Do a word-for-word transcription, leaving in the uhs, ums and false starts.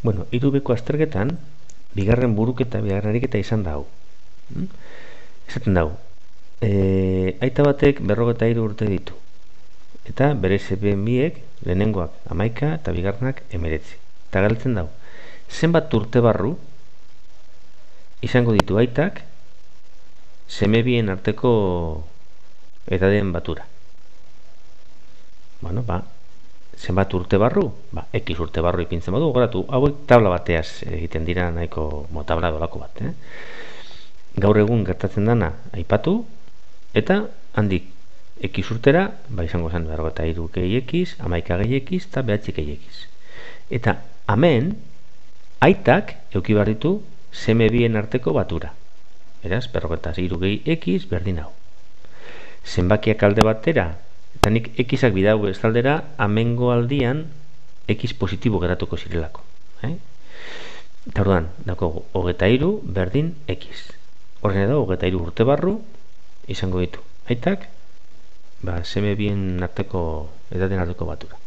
Bueno, hiru biko azterketan, bigarren buruketa, bigarren ariketa izan da hau. Mm? Esaten dau, e, aita batek berrogeta hiru urte ditu. Eta bere seme biek, lehenengoak hamaika eta bigarrenak emeretzi. Eta galtzen dau, zenbat urte barru izango ditu aitak seme bien arteko edaden batura. Bueno, ba, zenbat urte barru? Ba, X urte barru ipintzen badu, goratu, hauek tabla bateaz egiten dira nahiko motabla dolako bat, eh? Gaur egun gertatzen dana aipatu, eta handik X urtera, ba izango zen berrogeta hiru gehi X, hamaika gehi X, eta behatzi gehi X. Eta hemen, aitak euki behar ditu seme bien arteko batura. Beraz, berrogeta hiru gehi X berdin hau. Zenbakiak alde batera, eta nik Xak bidau estaldera, amengo aldian X positibo geratuko zirelako. Eh? Eta orduan, dako, hogeta hiru berdin X. Horren edo, hogeta hiru urte barru izango ditu. Aitak, ba, seme bien arteko, edaten arteko batura.